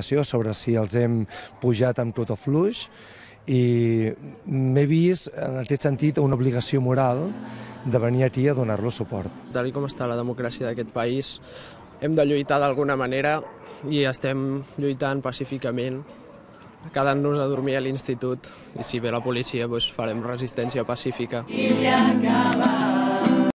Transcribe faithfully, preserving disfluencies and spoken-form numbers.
sobre si els hem pujat amb tot o fluix, i m'he vist, en aquest sentit, una obligació moral de venir aquí a donar-los suport. Tal com està la democràcia d'aquest país, hem de lluitar d'alguna manera i estem lluitant pacíficament, quedant-nos a dormir a l'institut, i si ve la policia doncs farem resistència pacífica. I ja acaba.